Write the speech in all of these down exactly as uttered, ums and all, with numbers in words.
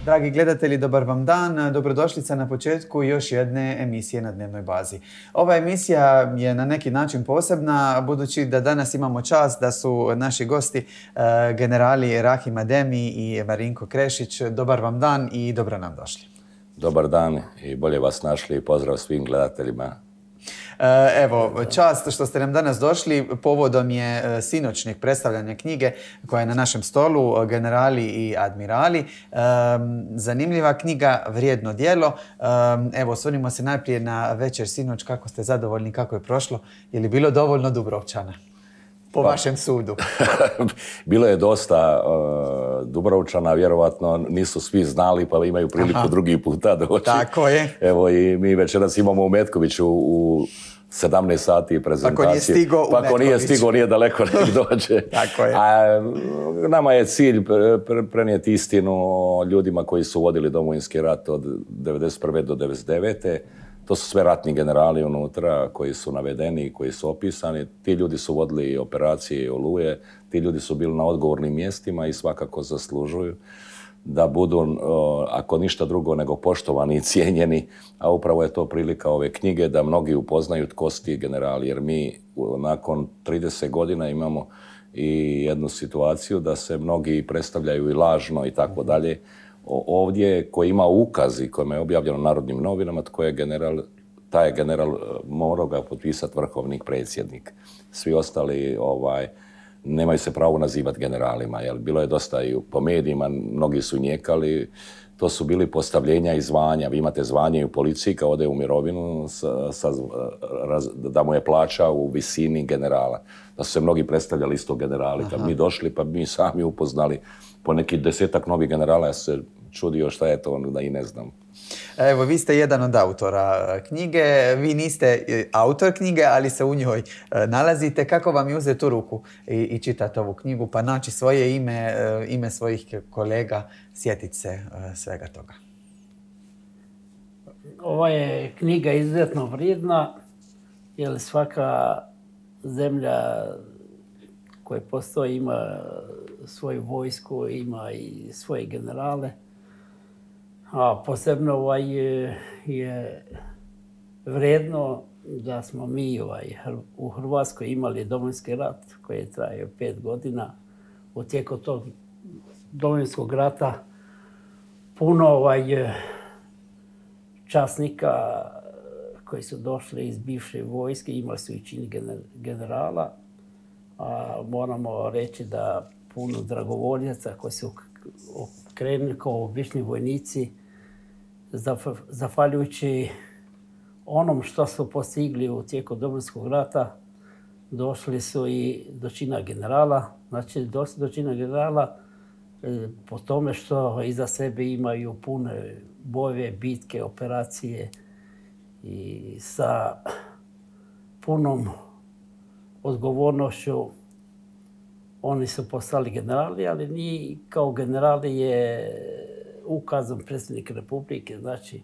Dragi gledatelji, dobar vam dan. Dobrodošlica na početku još jedne emisije na dnevnoj bazi. Ova emisija je na neki način posebna, budući da danas imamo čast da su naši gosti generali Rahim Ademi i Marinko Krešić. Dobar vam dan i dobro nam došli. Dobar dan i bolje vas našli i pozdrav svim gledateljima. Evo, čast što ste nam danas došli. Povodom je sinoćnjeg predstavljanja knjige koja je na našem stolu, Generali i admirali. Zanimljiva knjiga, vrijedno djelo. Evo, osvrnimo se najprije na večer sinoć. Kako ste zadovoljni, kako je prošlo? Je li bilo dovoljno Dubrovčana? Po pa, vašem sudu. Bilo je dosta uh, Dubrovčana, vjerovatno nisu svi znali pa imaju priliku Aha. drugi puta doći. Tako je. Evo i mi večeras imamo u Metkoviću u sedamnaest sati prezentacije. Pa ko nije stigo u Pa ako nije stigo, nije daleko nek dođe. Tako je. A nama je cilj prenijeti istinu o ljudima koji su vodili Domovinski rat od devedeset prve do devedeset devete To su sve ratni generali unutra koji su navedeni, koji su opisani. Ti ljudi su vodili operacije i Oluje, ti ljudi su bili na odgovornim mjestima i svakako zaslužuju da budu, ako ništa drugo, nego poštovani i cijenjeni. A upravo je to prilika ove knjige da mnogi upoznaju tko su ti generali. Jer mi nakon trideset godina imamo i jednu situaciju da se mnogi predstavljaju i lažno i tako dalje. Ovdje koji ima ukaz i kojima je objavljeno Narodnim novinama, tko je general, taj je general morao ga potpisati vrhovni predsjednik. Svi ostali ovaj, nemaju se pravo nazivati generalima. Jer bilo je dosta i po medijima, mnogi su njekali. To su bili postavljenja i zvanja. Vi imate zvanje i u policiji kad ode u mirovinu sa, sa, raz, da mu je plaća u visini generala. Da su se mnogi predstavljali isto generali. Kad mi došli pa mi sami upoznali po neki desetak novih generala, ja se čudio šta je to, da i ne znam. Evo, vi ste jedan od autora knjige. Vi niste autor knjige, ali se u njoj nalazite. Kako vam je uzeti u ruku i, i čitati ovu knjigu, pa naći svoje ime, ime svojih kolega, sjetiti se svega toga? Ova je knjiga izuzetno vrijedna, jer svaka zemlja koja postoji ima svoju vojsku, ima i svoje generale. A posebno ovaj je, je vrijedno da smo mi ovaj, u Hrvatskoj imali Domovinski rat koji je trajao pet godina. U tijeku tog Domovinskog rata puno ovaj, časnika koji su došli iz bivše vojske, imali su i čin generala. A moramo reći da puno dragovoljaca koji su krenuli kao obični vojnici, zahvaljujući onom što su postigli u tijeku Domovinskog rata, došli su i do čina generala. Znači, došli do čina generala po tome što iza sebe imaju pune bojeve, bitke, operacije i sa punom odgovornošću oni su postali generali, ali ni kao generali je ukazom predsjednik Republike, znači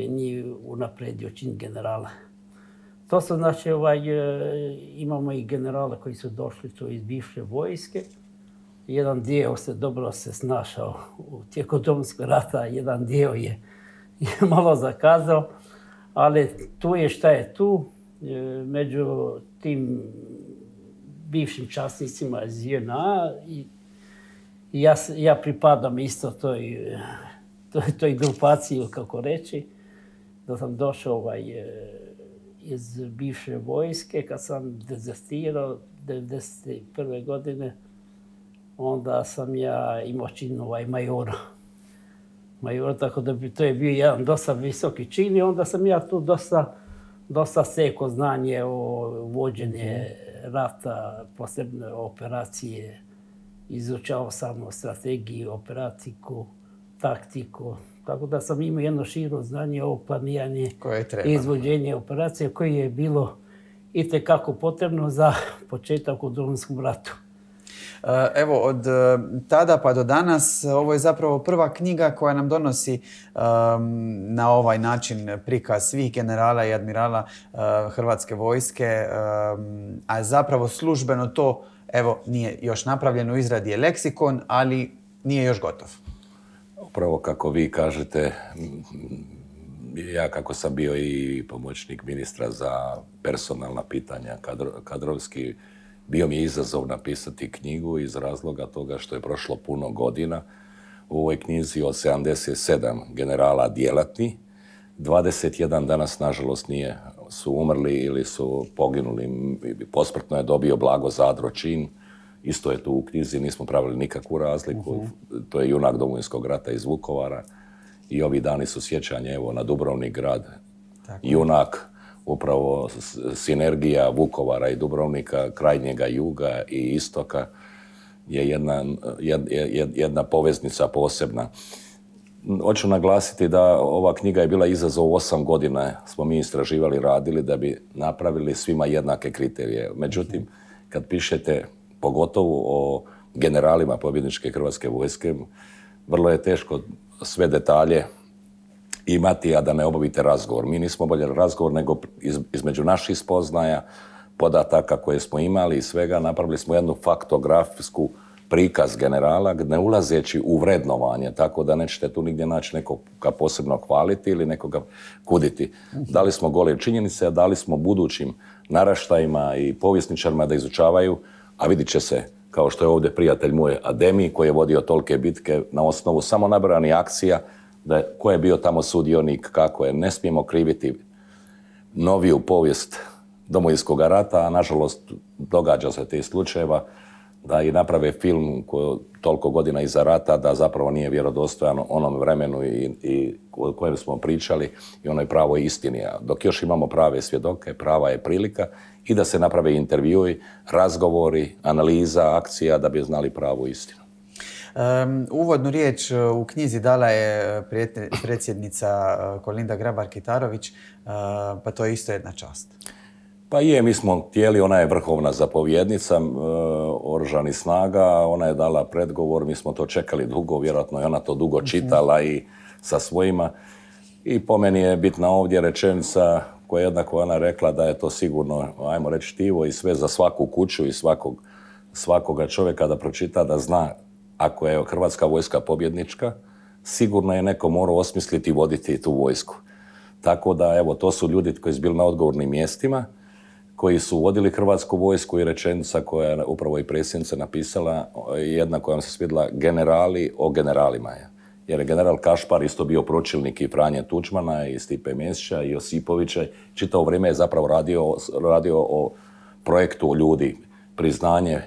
njih unapredio čin generala. To su znači, ovaj, imamo i generale koji su došli tu iz bivše vojske. Jedan dio se dobro se snašao u tijeku Domovinskog rata, jedan dio je, je malo zakazao, ali tu je šta je tu. Među tim bivšim časnicima iz J N A i ja, ja pripadam isto toj, toj, toj grupaciji, kako reći, da sam došao ovaj, iz bivše vojske, kad sam dezertirao devedeset prve godine, onda sam ja imao čin ovaj majora. Majora, tako da bi to je bio jedan dosta visoki čin i onda sam ja tu dosta dosta stekao znanje o vođenje rata, posebne operacije. Izučao sam strategiju, operatiku, taktiku. Tako da sam imao jedno širo znanje o planiranju i izvođenje operacije koje je bilo itekako potrebno za početak u Domovinskom ratu. Evo, od tada pa do danas, ovo je zapravo prva knjiga koja nam donosi um, na ovaj način prikaz svih generala i admirala uh, Hrvatske vojske, um, a zapravo službeno to, evo, nije još napravljeno, u izradi je leksikon, ali nije još gotov. Upravo kako vi kažete, ja kako sam bio i pomoćnik ministra za personalna pitanja, kadro, kadrovski, bio mi je izazov napisati knjigu iz razloga toga što je prošlo puno godina. U ovoj knjizi od sedamdeset sedam generala djelatni, dvadeset jedan danas, nažalost, nije, su umrli ili su poginuli. Posmrtno je dobio Blago Zadro čin. Isto je tu u knjizi, nismo pravili nikakvu razliku. Uh-huh. To je junak Domovinskog rata iz Vukovara. I ovi dani su sjećanje, evo, na Dubrovnik grad. Tako. Junak, upravo sinergija Vukovara i Dubrovnika, krajnjega juga i istoka je jedna, jed, jed, jedna poveznica posebna. Hoću naglasiti da ova knjiga je bila izazov osam godina. Smo mi istraživali, radili da bi napravili svima jednake kriterije. Međutim, kad pišete pogotovo o generalima pobjedničke Hrvatske vojske, vrlo je teško sve detalje imati, a da ne obavite razgovor. Mi nismo obavljali razgovor, nego iz, između naših spoznaja, podataka koje smo imali i svega, napravili smo jednu faktografsku prikaz generala, ne ulazeći u vrednovanje, tako da nećete tu nigdje naći nekoga posebno hvaliti ili nekoga kuditi. Dali smo gole činjenice, a dali smo budućim naraštajima i povjesničarima da izučavaju, a vidit će se, kao što je ovdje prijatelj moj Ademi, koji je vodio tolike bitke na osnovu samo nabranih akcija, da je, ko je bio tamo sudionik, kako je. Ne smijemo kriviti noviju povijest Domovinskog rata, a nažalost događa se tih slučajeva da i naprave film koji toliko godina iza rata da zapravo nije vjerodostojan onom vremenu i, i o kojem smo pričali i onoj pravoj istini. Dok još imamo prave svjedoke, prava je prilika i da se naprave intervjui, razgovori, analiza, akcija da bi znali pravu istinu. Um, uvodnu riječ u knjizi dala je predsjednica Kolinda Grabar-Kitarović, uh, pa to je isto jedna čast. Pa je, mi smo htjeli, ona je vrhovna zapovjednica uh, oružanih snaga, ona je dala predgovor, mi smo to čekali dugo, vjerojatno je ona to dugo čitala i sa svojima. I po meni je bitna ovdje rečenica koja je jednako ona rekla da je to sigurno, ajmo reći, štivo i sve za svaku kuću i svakog, svakoga čovjeka da pročita, da zna ako je Hrvatska vojska pobjednička, sigurno je neko morao osmisliti i voditi tu vojsku. Tako da, evo, to su ljudi koji su bili na odgovornim mjestima, koji su vodili Hrvatsku vojsku i rečenica koja je upravo i predsjednica napisala, jedna koja vam se svidjela, generali o generalima. Jer je general Kašpar isto bio pročelnik i Franje Tuđmana i Stipe Mesića i Josipovića. Čitavo vrijeme je zapravo radio, radio o projektu ljudi, priznanje,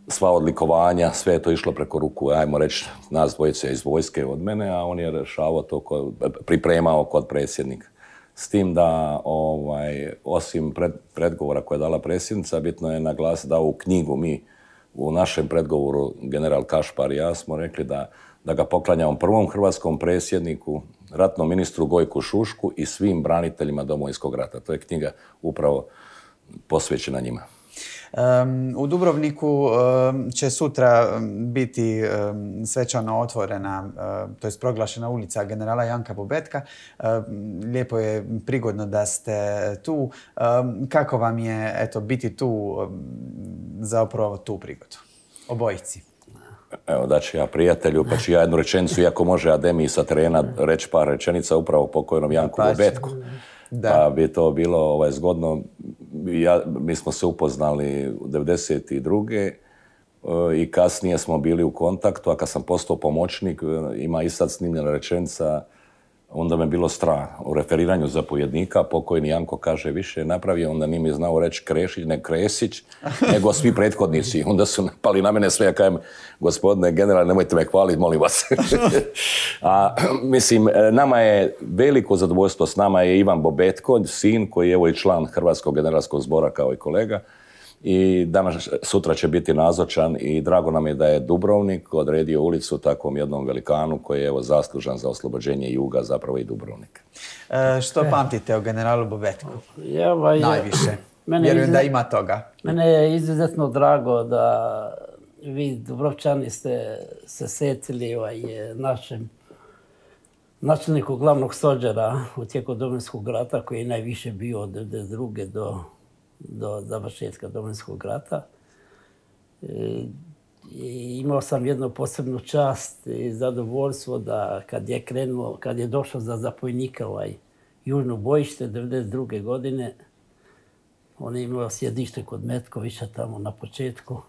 sva odlikovanja, sve je to išlo preko ruku, ajmo reći, nas dvojice iz vojske od mene, a on je rešavao to, kod, pripremao kod predsjednika. S tim da, ovaj, osim pred, predgovora koje je dala predsjednica, bitno je naglasiti da u knjigu mi, u našem predgovoru, general Kašpar i ja smo rekli da, da ga poklanjamo prvom hrvatskom predsjedniku, ratnom ministru Gojku Šušku i svim braniteljima Domovinskog rata. To je knjiga upravo posvećena njima. Um, u Dubrovniku um, će sutra biti um, svečano otvorena, um, to je proglašena ulica generala Janka Bobetka. Um, lijepo je prigodno da ste tu. Um, kako vam je eto, biti tu um, za upravo tu prigodu? Obojici. Evo, daću ja prijatelju, pa ću ja jednu rečenicu, iako može Ademi sa terena reći par rečenica upravo pokojnom Janku Bobetku. Da. Pa bi to bilo ovaj, zgodno. Ja, mi smo se upoznali u devedeset druge i kasnije smo bili u kontaktu, a kad sam postao pomoćnik, ima i sad snimljena rečenica, onda me bilo strah. U referiranju zapovjednika pokojni Janko kaže više napravio, onda nije mi znao reći Krešić, ne Kresić, nego svi prethodnici. Onda su napali na mene sve, ja kajem, gospodine generale, nemojte me hvaliti, molim vas. A mislim, nama je veliko zadovoljstvo, s nama je Ivan Bobetko, sin koji je evo i član Hrvatskog generalskog zbora kao i kolega. I danas, sutra će biti nazočan i drago nam je da je Dubrovnik odredio ulicu takvom jednom velikanu koji je evo zaslužan za oslobođenje juga, zapravo i Dubrovnika. E, što pamtite o generalu Bobetku? Ja, ovaj, najviše. Vjerujem izuzet, da ima toga. Mene je izuzetno drago da vi Dubrovčani ste se setili ovaj, našem načelniku glavnog stožera u tijeku Domovinskog rata koji je najviše bio od devedeset druge do do završetka Domovinskog rata. E, I imao sam jednu posebnu čast i zadovoljstvo da kad je krenuo, kad je došao za zapojnika ovaj južno bojište devedeset druge godine, on je imao sjedište kod Metkovića tamo na početku.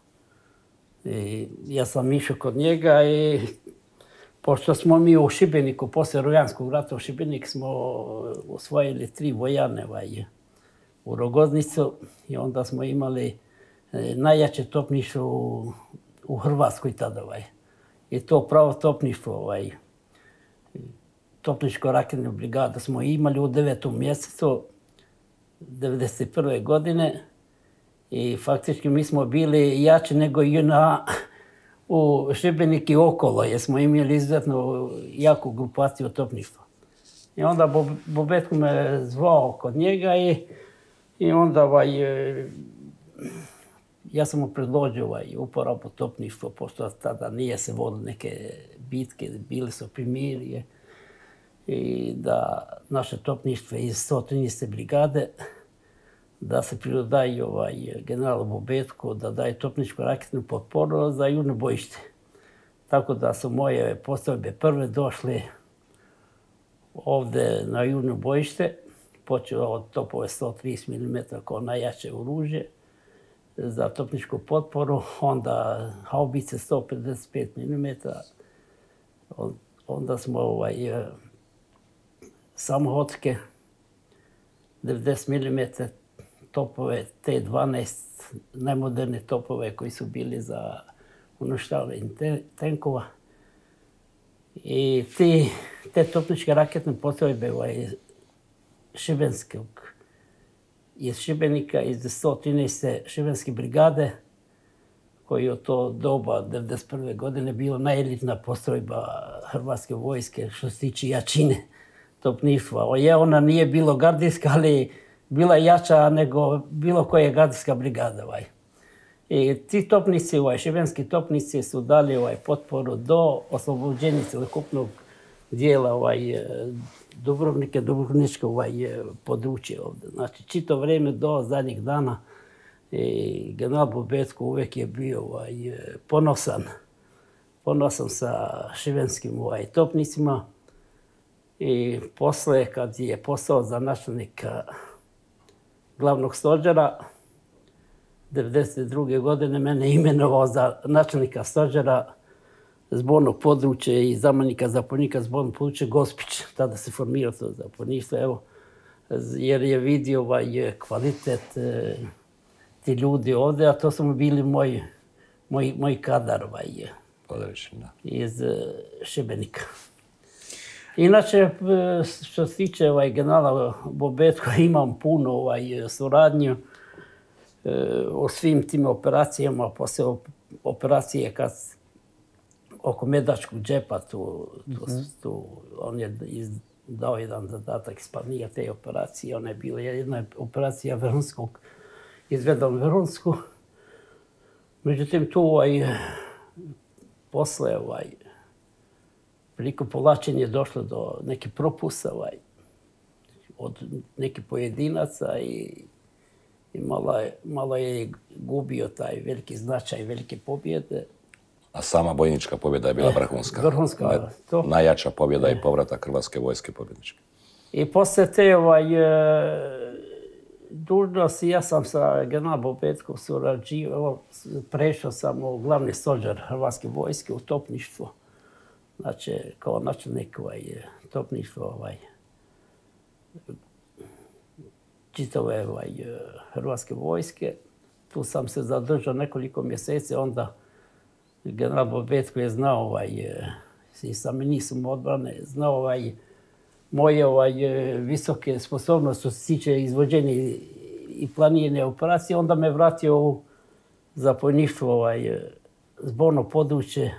I ja sam išao kod njega i pošto smo mi u Šibeniku, poslije Rujanskog rata u Šibenik smo osvojili tri vojarne ovaj, u Rogoznicu i onda smo imali najjače topništvo u, u Hrvatskoj tada. Ovaj. I to pravo topništvo, ovaj, topničko-raketnu brigadu smo imali u devetom mjesecu devedeset prve godine i faktički mi smo bili jači nego i na u Šibenik i okolo, jer smo imali izuzetno jaku grupaciju topništva. I onda Bobetko me zvao kod njega i, i onda ovaj, ja sam mu predložio ovaj, uporabu topništva, pošto tada nije se vodilo neke bitke, bili su primirje i da naše topništvo iz sto trinaeste brigade da se pridodaje ovaj, generalu Bobetku da daje topničku raketnu potporu za južno bojište. Tako da su moje postrojbe prve došle ovdje na južno bojište, počeo od topove sto trideset milimetara kao najjače oružje za topničku potporu, onda haubice sto pedeset pet milimetara, onda smo ovaj, samohodke devedeset milimetara, topove T dvanaest, najmoderne topove koji su bili za uništavanje tenkova. I ti, te topničke raketne postrojbe ovaj, Šibenskog, iz Šibenika, iz sto trinaeste Šibenske brigade, koji je od to doba devedeset prve godine bila najelitna postrojba Hrvatske vojske što se tiče jačine topništva. Je, ona nije bilo gardijska, ali bila jača nego bilo koja gardijska brigada. Ovaj. I ti topnici, ovaj, šibenski topnici su dali ovaj, potporu do oslobođenja celokupnog dijela ovaj, Dubrovnika, Dubrovničko ovaj, područje ovdje. Znači, čito vrijeme do zadnjih dana i general Bobetko uvijek je bio ovaj, ponosan, ponosan sa šibenskim ovaj, topnicima. I posle, kad je postao za načelnika glavnog stožera, devedeset druge godine mene imenovao za načelnika stožera zbornog područja i zamjenika zapovjednika zbornog područja Gospić. Tada se formirao to zapovjedništvo, evo, jer je vidio ovaj kvalitet e, ti ljudi ovdje, a to su mu bili moji, moji, moji kadar ovaj, iz e, Šibenika. Inače, što se tiče ovaj, generala Bobetko, imam puno ovaj, suradnju e, o svim tim operacijama, poslije operacije kad oko Medačkog džepa, tu, tu, tu, on je dao jedan zadatak isplanija te operacije. Ona je bila jedna operacija Vrhunskog, izvedom Vrhunsku. Međutim, tu ovaj, posle ovaj, priliku povlačenja je došlo do nekih propusta ovaj, od nekih pojedinaca i, i malo, je, malo je gubio taj veliki značaj, velike pobjede. A sama bojnička pobjeda je bila vrhunska. Vrhunska, to. Najjača pobjeda i povratak Hrvatske vojske pobjedničke. I poslije te ovaj, dužnosti, ja sam sa generalom Bobetkom surađivao, prešao sam u glavni stožer Hrvatske vojske u topništvo. Znači, kao načelnik ovaj, topništva ovaj, čitave ovaj, Hrvatske vojske. Tu sam se zadržao nekoliko mjeseci, onda general Bobetko je znao ovaj, i sa ministrom odbrane, znao ovaj, moje ovaj, visoke sposobnosti što se tiče izvođenja i planiranja operacije, onda me vratio u zapovjedništvo ovaj, zborno područje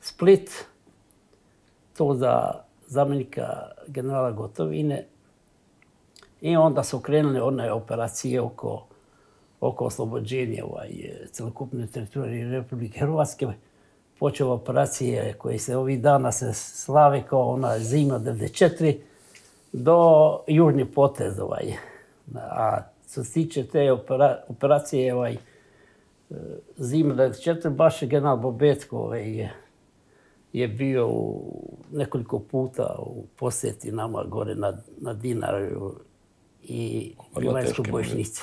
Split, to za zamjenika generala Gotovine. I onda su krenule one operacije oko, oko oslobođenja ovaj, celokupne teritorije Republike Hrvatske. Počela operacije koje se ovih dana se slave kao ona zima devedeset četiri do južni potez. Ovaj. A što se tiče te opera, operacije, ovaj, zime devedeset četvrte baš general Bobetko ovaj, je, je bio u nekoliko puta u posjeti nama gore na, na Dinaru i Bilajskoj Bojišnici.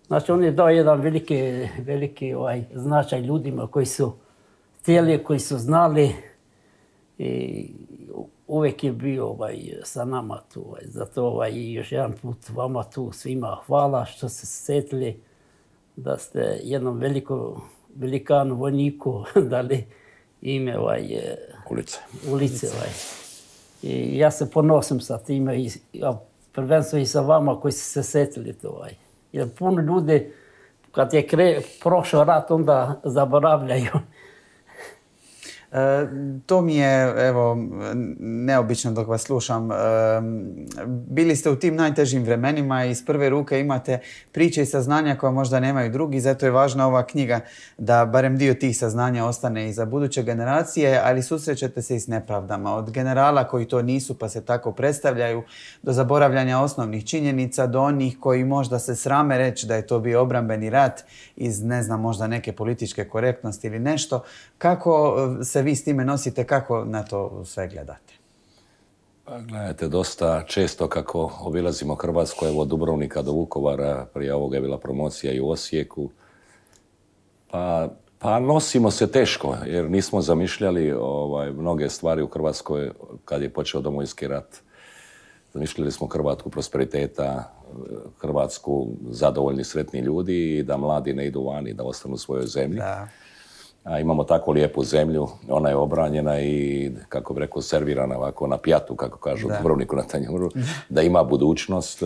Znači, on je dao jedan veliki, veliki ovaj, značaj ljudima koji su htjeli, koji su znali i uvijek je bio ovaj, sa nama tu. Ovaj. Zato ovaj, još jedan put vama tu svima hvala što ste se sjetili da ste jednom velikom velikanu vojniku dali ime ovaj, ulice. ulice ovaj. I ja se ponosim sa time, i, a prvenstveno i sa vama koji ste se sjetili to. Ovaj. Jer puno ljudi, kad je kre, prošao rat, onda zaboravljaju. E, to mi je, evo, neobično dok vas slušam. E, bili ste u tim najtežim vremenima i iz prve ruke imate priče i saznanja koja možda nemaju drugi, zato je važna ova knjiga da barem dio tih saznanja ostane i za buduće generacije, ali susrećete se i s nepravdama. Od generala koji to nisu pa se tako predstavljaju, do zaboravljanja osnovnih činjenica, do onih koji možda se srame reći da je to bio obrambeni rat iz, ne znam, možda neke političke korektnosti ili nešto. Kako se vi s time nosite, kako na to sve gledate? Pa gledajte, dosta često kako obilazimo Hrvatsku, evo od Dubrovnika do Vukovara, prije ovoga je bila promocija i u Osijeku, pa, pa nosimo se teško jer nismo zamišljali ovaj, mnoge stvari u Hrvatskoj kad je počeo Domovinski rat. Zamišljali smo Hrvatsku prosperiteta, Hrvatsku zadovoljni, sretni ljudi i da mladi ne idu vani, da ostanu u svojoj zemlji. Da. A imamo tako lijepu zemlju, ona je obranjena i, kako bi rekao, servirana ovako na pjatu, kako kažu u Dubrovniku na tanjuru, da ima budućnost.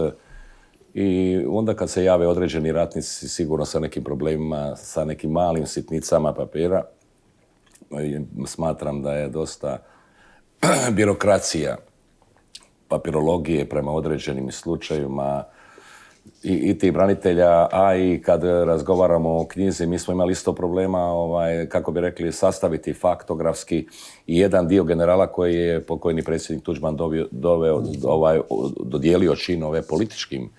I onda kad se jave određeni ratnici, sigurno sa nekim problemima, sa nekim malim sitnicama papira, smatram da je dosta birokracija, papirologije prema određenim slučajevima, I, i ti branitelja, a i kad razgovaramo o knjizi, mi smo imali isto problema, ovaj, kako bi rekli, sastaviti faktografski i jedan dio generala koji je pokojni predsjednik Tuđman doveo, doveo, ovaj, dodijelio činove političkim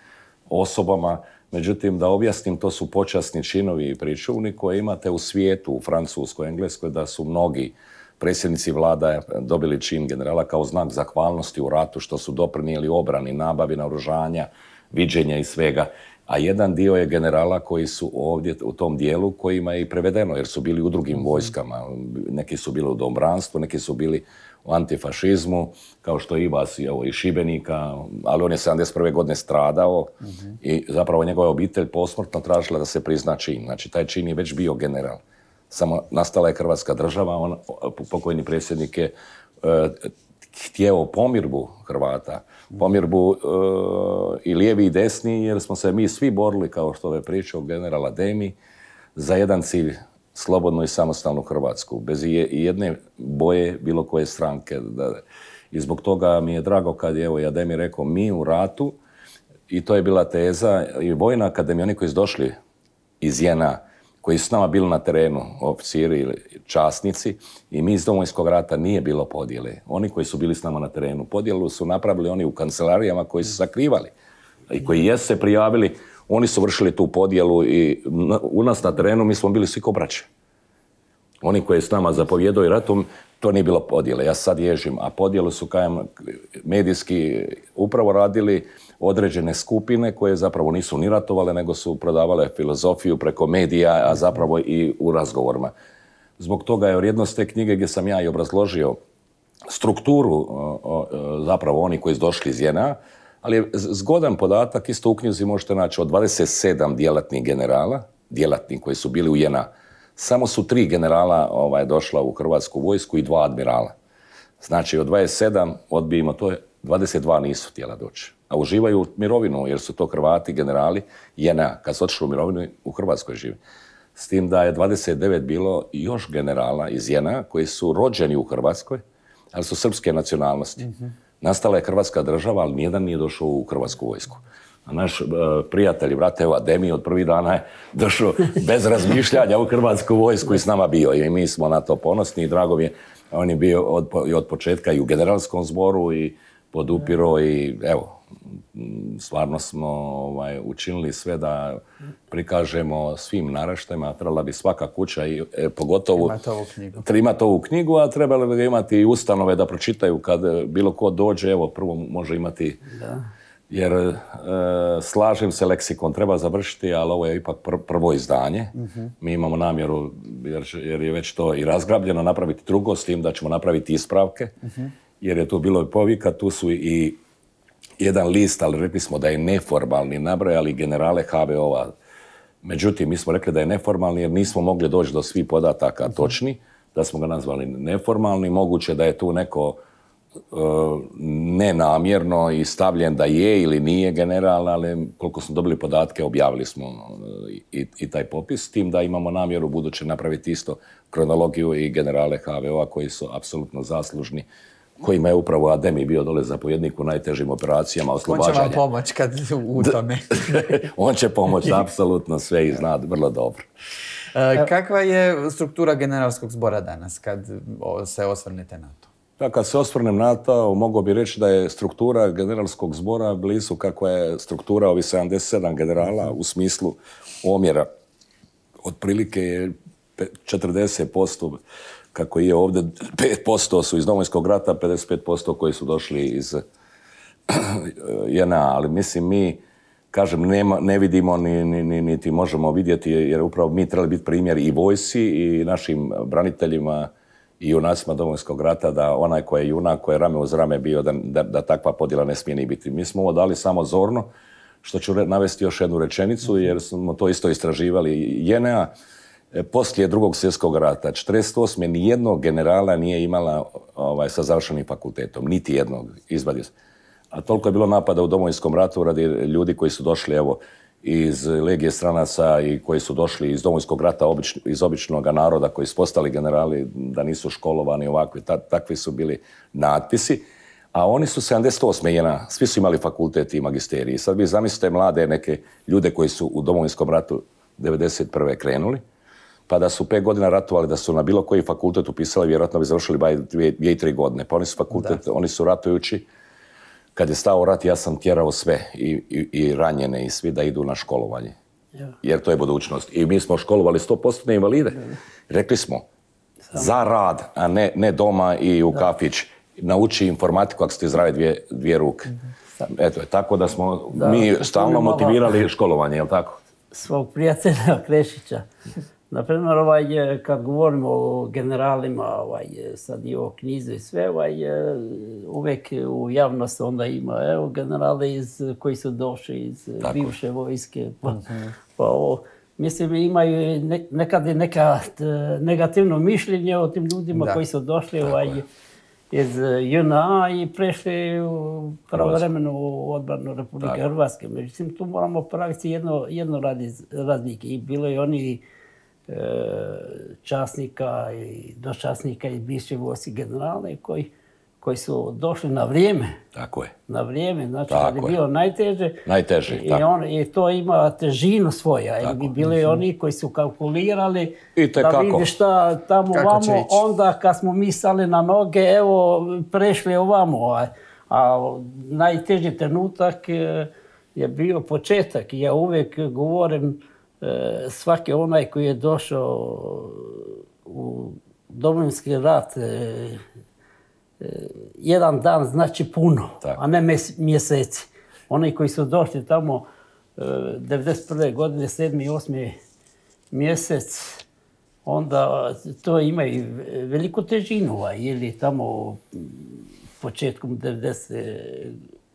osobama. Međutim, da objasnim, to su počasni činovi i pričuvni koje imate u svijetu, u Francuskoj, Engleskoj, da su mnogi predsjednici vlada dobili čin generala kao znak zahvalnosti u ratu, što su doprinijeli obrani, nabavi naoružanja, viđenja i svega. A jedan dio je generala koji su ovdje u tom dijelu kojima je i prevedeno, jer su bili u drugim vojskama. Neki su bili u domobranstvu, neki su bili u antifašizmu, kao što i vas, evo, i Šibenika, ali on je sedamdeset prve godine stradao uh-huh. i zapravo njegova obitelj posmrtno tražila da se prizna čin. Znači, taj čin je već bio general. Samo nastala je Hrvatska država, on, pokojni predsjednik je e, htjeo pomirbu Hrvata, pomirbu e, i lijevi i desni, jer smo se mi svi borili, kao što je pričao general Ademi, za jedan cilj, slobodnu i samostalnu Hrvatsku, bez i jedne boje bilo koje stranke. I zbog toga mi je drago kad je, evo, Ademi rekao, mi u ratu, i to je bila teza, i Vojna akademija, oni koji su došli iz J N A, koji su s nama bili na terenu, oficiri ili časnici, i mi iz Domovinskog rata nije bilo podjele. Oni koji su bili s nama na terenu, podjelu su napravili oni u kancelarijama koji su sakrivali i koji jesu se prijavili, oni su vršili tu podjelu i u nas na terenu mi smo bili svi ko braće. Oni koji s nama zapovjedaju ratom, to nije bilo podjele. Ja sad ježim, a podjelu su kajem medijski upravo radili određene skupine koje zapravo nisu ni ratovale, nego su prodavale filozofiju preko medija, a zapravo i u razgovorima. Zbog toga je vrijednost te knjige gdje sam ja i obrazložio strukturu zapravo oni koji su došli iz J N A, ali je zgodan podatak, isto u knjizi možete naći od dvadeset sedam djelatnih generala, djelatnih koji su bili u J N A, samo su tri generala ovaj, došla u Hrvatsku vojsku i dva admirala. Znači od dvadeset sedam odbijemo, to je dvadeset dva nisu htjela doći. A uživaju mirovinu jer su to Hrvati, generali J N A. Kad su otišli u mirovinu, u Hrvatskoj žive. S tim da je dvadeset devet bilo još generala iz J N A koji su rođeni u Hrvatskoj, ali su srpske nacionalnosti. Mm-hmm. Nastala je Hrvatska država, ali nijedan nije došao u Hrvatsku vojsku. A naš uh, prijatelj, brate, evo, Ademi od prvih dana je došao bez razmišljanja u Hrvatsku vojsku i s nama bio. I mi smo na to ponosni i drago mi je. On je bio od, od početka i u generalskom zboru i podupiro i evo, Stvarno smo ovaj, učinili sve da prikažemo svim naraštajima. Trebala bi svaka kuća, i, e, pogotovo imati ovu knjigu. imati ovu knjigu, a trebali bi imati i ustanove da pročitaju kad bilo ko dođe. Evo, prvo može imati... Da. Jer e, slažem se, leksikon treba završiti, ali ovo je ipak pr prvo izdanje. Uh-huh. Mi imamo namjeru, jer, jer je već to i razgrabljeno, napraviti drugo, s tim da ćemo napraviti ispravke. Uh-huh. Jer je tu bilo i povika, tu su i jedan list, ali rekli smo da je neformalni, nabrojali generale ha ve o-a. Međutim, mi smo rekli da je neformalni jer nismo mogli doći do svih podataka uh-huh. točni, da smo ga nazvali neformalni. Moguće da je tu neko nenamjerno i stavljen da je ili nije general, ali koliko smo dobili podatke, objavili smo i, i taj popis, s tim da imamo namjeru buduće napraviti isto kronologiju i generale ha ve o-a koji su apsolutno zaslužni, kojima je upravo Ademi bio dole zapovjednik u najtežim operacijama oslobađanja. On će vam pomoći kad u tome. On će pomoći apsolutno sve i zna vrlo dobro. E, kakva je struktura generalskog zbora danas kad se osvrnete na to? Da, kad se osvrnem na to, mogu bi reći da je struktura generalskog zbora blizu kakva je struktura ovih sedamdeset sedam generala u smislu omjera. Otprilike je četrdeset posto kako je ovdje, pet posto su iz Domovinskog rata, pedeset pet posto koji su došli iz je en a, ali mislim mi, kažem, nema, ne vidimo ni, ni, ni, niti možemo vidjeti, jer upravo mi trebali biti primjer i vojsci i našim braniteljima i junacima Domovinskog rata, da onaj koji je junak, koji je rame uz rame bio, da, da, da takva podjela ne smije ni biti. Mi smo ovo dali samo zorno, što ću re, navesti još jednu rečenicu, jer smo to isto istraživali. je en a poslije drugog svjetskog rata, četrdeset osme nijednog generala nije imala ovaj, sa završenim fakultetom, niti jednog, izvadio se. A toliko je bilo napada u Domovinskom ratu radi ljudi koji su došli, evo, iz Legije stranaca i koji su došli iz Domovinskog rata, obič, iz običnog naroda, koji su postali generali, da nisu školovani ovakvi, ta, takvi su bili natpisi. A oni su sedamdeset osme je en a, svi su imali fakultet i magisterij. Sad vi zamislite mlade neke ljude koji su u Domovinskom ratu devedeset prve krenuli, pa da su pet godina ratovali, da su na bilo koji fakultet upisali, vjerojatno bi završili ba dvije, dvije i tri godine. Pa oni su fakultet, da. Oni su ratujući. Kad je stao rat, ja sam tjerao sve, i, i, i ranjene i svi da idu na školovanje. Ja. Jer to je budućnost. I mi smo školovali sto posto invalide. Ja. Rekli smo, Samo. za rad, a ne, ne doma i u da. kafić. Nauči informatiku ako ste zdrave dvije, dvije ruke. Samo. Eto, tako da smo da, mi stalno motivirali školovanje, je li tako? Svog prijatelja Krešića. Naprimjer, ovaj, kad govorimo o generalima, ovaj, sad i o knjizi i sve, ovaj, uvijek u javnosti onda ima, evo, generale iz, koji su došli iz Tako. bivše vojske. Pa, uh-huh. pa ovo, mislim, imaju ne, nekad je neka negativno mišljenje o tim ljudima da. koji su došli ovaj, iz je en a i prešli u pravovremenu odbranu Republike Tako. Hrvatske. Međutim, tu moramo praviti jedno, jedno razlike. I bilo je oni časnika i dočasnika i bivše vojske generale koji, koji su došli na vrijeme. Tako je. Na vrijeme, znači kad je bilo najteže. Najteže, i, on, i to ima težinu svoja. Tako. I bili mm-hmm. oni koji su kalkulirali I da vidi šta tamo kako ovamo. Onda kad smo mi stali na noge, evo, prešli ovamo. A, a najteži trenutak je bio početak. Ja uvijek govorim svaki onaj koji je došao u Domovinski rat, jedan dan znači puno, Tako. a ne mjeseci. Oni koji su došli tamo devedeset prve godine, sedmi i osmi mjesec, onda to imaju veliku težinu, ili tamo početkom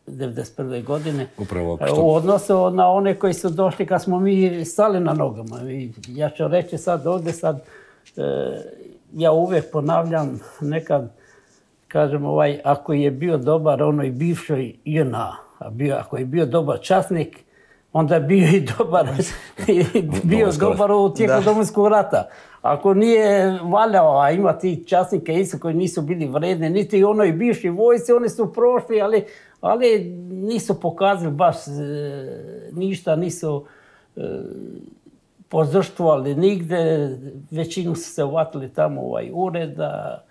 devedeset prve godine. Upravo što... U odnosu na one koji su došli kad smo mi stali na nogama. I ja ću reći sad ovdje, sad, e, ja uvijek ponavljam nekad, kažem, ovaj, ako je bio dobar onoj bivšoj je en a, a bio, ako je bio dobar časnik, onda je bio i dobar, bio dobar u tijeku Domovinskog rata. Ako nije valjao, a ima ti časnike isto koji nisu bili vredni, niti onoj bivši vojsci, oni su prošli, ali, ali nisu pokazali baš e, ništa, nisu e, požrtvovali nigde, većinu su se uvatili tamo ovaj ureda,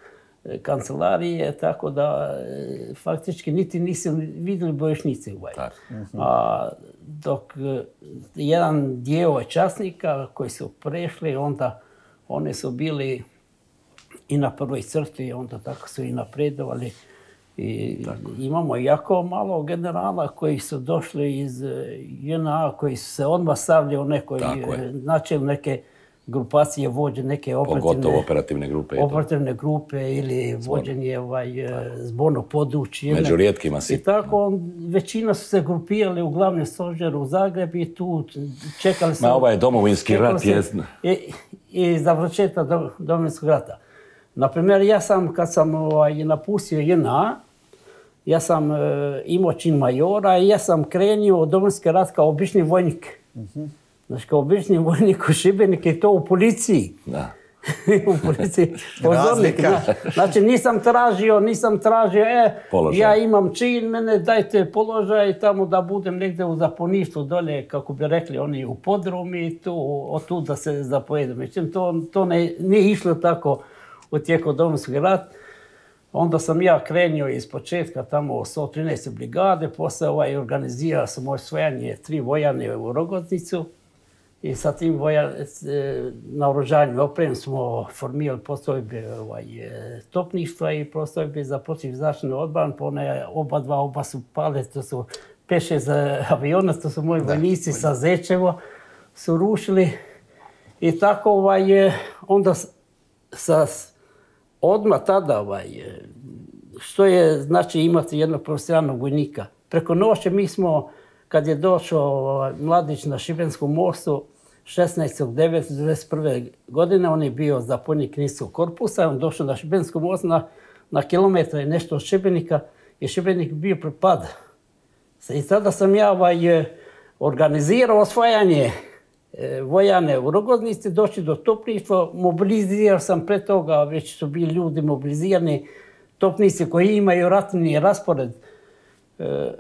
kancelarije, tako da faktički niti nisu vidjeli bojišnice. A dok jedan dio časnika koji su prešli, onda oni su bili i na prvoj crti, onda tako su i napredovali. I imamo jako malo generala koji su došli iz J N A, koji su se odmah stavljali u nekoj, načeli neke grupacije, vođe neke operativne, operativne grupe, operativne grupe ili vođenje ovaj, zbornog područja. Među rijetkima si. I tako većina su se grupirali u glavnom stožeru u Zagrebu i tu čekali su... Ma ovaj domovinski rat je... I, i završetka do, domovinskog rata. Naprimjer, ja sam, kad sam ovaj, napustio J N A, ja sam e, imao čin majora i ja sam krenio u domovinski rat kao obični vojnik. Uh-huh. Znači, kao obični vojnik u Šibeniku i to u policiji. Da. U policiji. Pozornik. Znači, nisam tražio, nisam tražio, e, položaj. Ja imam čin, mene dajte položaj tamo da budem negdje u zapovjedništvu dolje, kako bi rekli oni, u podrumi, tu, od tu da se zapovedem. Međutim, to, to ne, nije išlo tako u tijeku domovinskog rata. Onda sam ja krenio iz početka tamo u sto trinaeste brigade, poslije ovaj, organizirao sam osvajanje tri vojane u Rogoznicu i sa tim vojan, naoružanjem opremom smo formirali postrojbe ovaj, topništva i postrojbe za protivzračnu odbranu, pa one oba dva, oba su pale, to su pet šest aviona, to su moji vojnici sa Zečevo, su rušili i tako ovaj, onda sa odmah tada, ovaj, što je znači imati jednog profesionalnog vojnika. Preko noći mi smo, kad je došao ovaj, mladić na Šibenskom mostu, šesnaestog devetog devedeset prve. godine, on je bio zapovjednik Niskog korpusa, on došao na Šibenskom mostu na, na kilometra i nešto od Šibenika i Šibenik bio prepad. I tada sam ja ovaj, organizirao osvajanje vojane u Rogoznici, došli do topništva, mobilizirao sam pre toga, već su bili ljudi mobilizirani, topnici koji imaju ratni raspored e,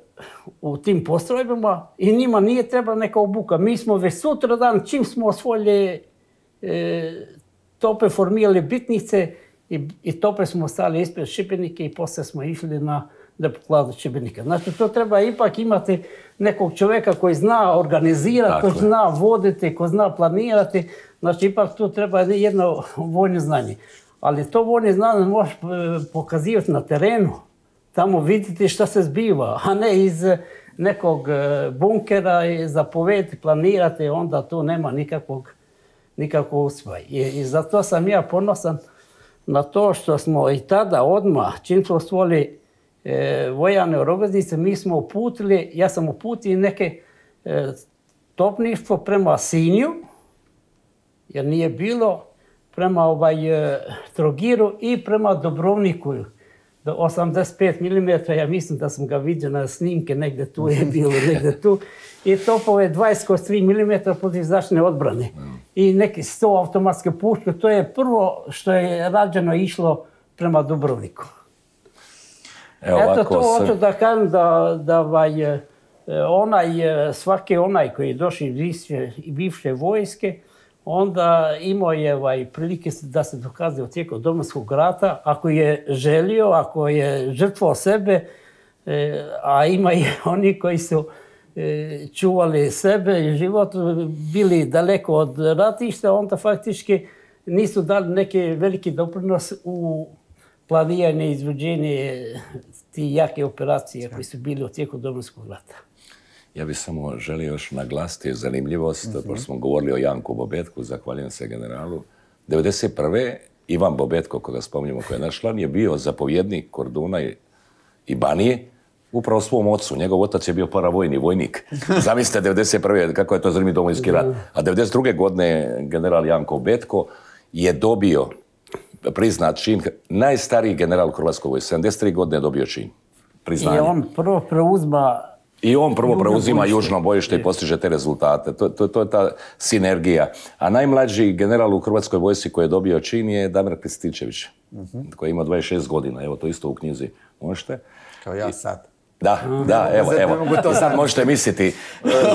u tim postrojbama i njima nije trebala neka obuka. Mi smo već sutra dan, čim smo osvojili e, tope, formirali bitnice i, i tope smo stali ispred Šibenike i poslije smo išli na depokladu Šibenika. Znači, to treba ipak imati nekog čovjeka koji zna organizirati, koji zna voditi, koji zna planirati. Znači, ipak tu treba jedno vojno znanje. Ali to vojno znanje možeš pokazivati na terenu. Tamo vidjeti šta se zbiva, a ne iz nekog bunkera i zapovjediti, planirati, onda tu nema nikakvog, nikakvog uspjeha. I, I zato sam ja ponosan na to što smo i tada odmah, čim smo stvorili E, vojane u Rogoznici, mi smo uputili, ja sam uputio neke e, topništvo prema Sinju, jer nije bilo, prema ovaj, e, Trogiru i prema Dubrovniku. Do osamdeset pet milimetara, ja mislim da sam ga vidio na snimke, negdje tu je bilo, negdje tu. I topove dvadeset kroz tri milimetra protivzračne odbrane. I neki sto automatske puške, to je prvo što je rađeno išlo prema Dubrovniku. Evo, Eto to hoću se... da kažem da, da ovaj, onaj, svaki onaj koji je došao iz bivše vojske, onda imao je ovaj, prilike da se dokaze u tijeku domovinskog rata, ako je želio, ako je žrtvovao sebe, a ima i oni koji su čuvali sebe i život, bili daleko od ratišta, onda faktički nisu dali neki veliki doprinos u planiranje i izvođenje ti jake operacije koji su bili u tijeku domovinskog rata. Ja bih samo želio još naglasiti zanimljivost, mm-hmm. pošto smo govorili o Janku Bobetku, zahvaljujem se generalu. devedeset prve. Ivan Bobetko, koga spominjemo, koji je naš član, je bio zapovjednik Korduna i, i Banije, upravo svom ocu. Njegov otac je bio paravojni vojnik. Zamislite devedeset prve. kako je to zanimljiv domovinski rat. A devedeset druge. godine general Janko Bobetko je dobio priznat čin, najstariji general u Hrvatskoj vojsci, sedamdeset tri godine je dobio čin. Priznanje. I on prvo preuzma... I on prvo preuzima bojište. Južno bojište i postiže te rezultate. To, to, to je ta sinergija. A najmlađi general u Hrvatskoj vojsci koji je dobio čin je Damir Krstičević, uh-huh. koji ima dvadeset šest godina. Evo to isto u knjizi možete. Kao ja sad. Da, da, evo, evo. I sad možete misliti.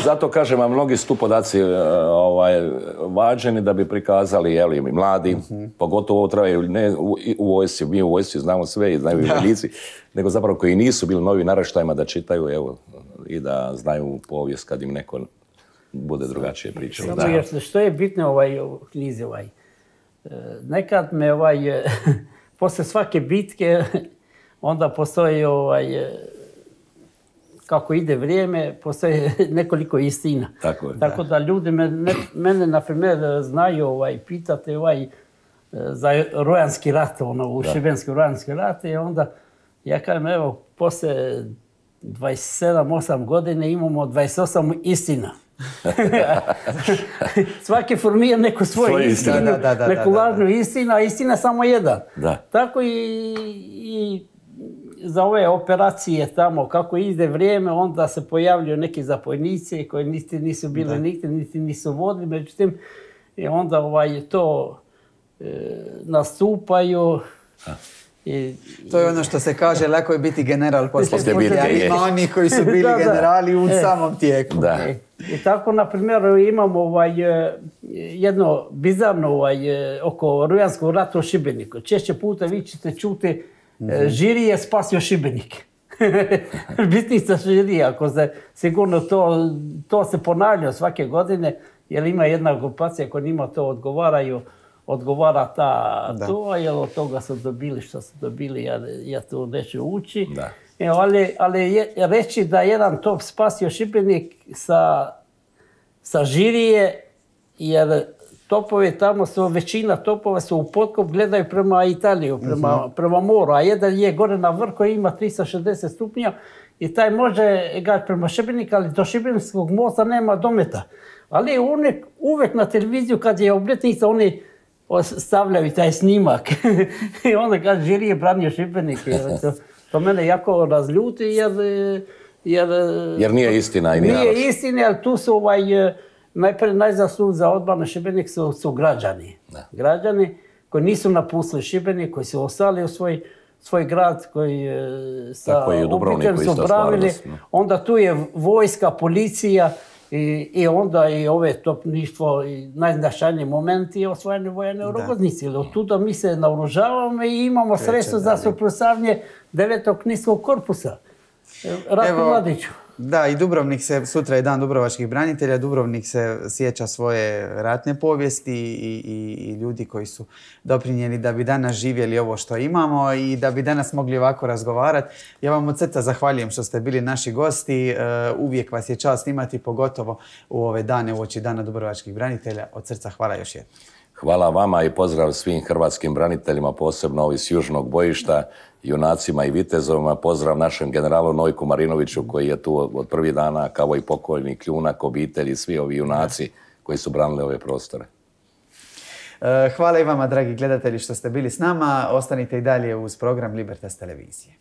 Zato kažem vam, mnogi su tu podaci ovaj, vađeni da bi prikazali, jeli, mladi, uh-huh. pogotovo ovo trebaju ne u, u vojsci, mi u vojsci znamo sve i znaju i vojnici, nego zapravo koji nisu bili novi naraštajima da čitaju, evo, i da znaju povijest kad im neko bude drugačije pričao. Samo još, što je bitno ovaj, u knjizi ovaj, nekad me ovaj, posle svake bitke onda postoji ovaj, kako ide vrijeme, postoje nekoliko istina. Tako, je, Tako da ljudi me, ne, mene, na primjer, znaju, ovaj, pitate ovaj, za Rojanski rat, ono, u Šibenski Rojanski rat, i onda ja kažem, evo, posle dvadeset sedam osam godine imamo dvadeset osam istina. Svaki formira neku svoju istinu, da, da, da, neku lažnu istinu, a istina samo jedan. Da. Tako i, i za ove operacije tamo, kako ide vrijeme, onda se pojavljuju neki zapojnici koji niti nisu bili nigdje, niti nisu vodili, međutim, i onda ovaj, to e, nastupaju. I, to je ono što se kaže, lako je biti general poslije bitke. Ima oni koji su bili da, generali u e, samom tijeku. Da. E, I tako, na primjer, imamo ovaj, jedno bizarno ovaj, oko Rujanskog rata u Šibeniku. Češće puta vi ćete čuti mm-hmm. Žiri je spasio Šibenik. Bitnica Žiri, ako se sigurno to, to se ponavlja svake godine, jer ima jedna grupacija koja njima to odgovaraju, odgovara ta da. To, jer od toga su dobili što su dobili, ja, ja to neću ući. E, ali ali je, reći da jedan top spasio Šibenik sa, sa Žirije, jer topovi tamo su, većina topova su u potkop, gledaju prema Italiju, prema, uh-huh. prema moru, a jedan je gore na vrh koji ima tristo šezdeset stupnja i taj može gledati prema Šibeniku, ali do Šibenskog mosta nema dometa. Ali uvijek, uvijek na televiziju kad je obljetnica, oni stavljaju taj snimak. I onda kaže, Žiri je branio Šibenik. To, to mene jako razljuti, jer... Jer, jer nije istina i nije naravno. Istina, ali tu su ovaj, najprije najzaslužniji za odbranu Šibenik su, su građani. Da. Građani koji nisu napustili Šibenik, koji su ostali u svoj, svoj grad, koji sa obličem su branili. Onda tu je vojska, policija, I, i onda i ove topništvo i najznačajniji moment je osvajanje vojane u Rogoznici. Od tuda mi se naoružavamo i imamo sredstvo za suprotstavljanje devetog knjižskog korpusa. Ratku Mladiću. Da, i Dubrovnik se, sutra je dan dubrovačkih branitelja, Dubrovnik se sjeća svoje ratne povijesti i, i, i ljudi koji su doprinijeli da bi danas živjeli ovo što imamo i da bi danas mogli ovako razgovarati. Ja vam od srca zahvaljujem što ste bili naši gosti. Uvijek vas je čast imati, pogotovo u ove dane uoči Dana dubrovačkih branitelja. Od srca hvala još jednom. Hvala vama i pozdrav svim hrvatskim braniteljima, posebno ovi s južnog bojišta, junacima i vitezovima. Pozdrav našem generalu Nojku Marinoviću koji je tu od prvih dana, kao i pokojni Kljunak, obitelji, svi ovi junaci koji su branili ove prostore. Hvala i vama, dragi gledatelji, što ste bili s nama. Ostanite i dalje uz program Libertas televizije.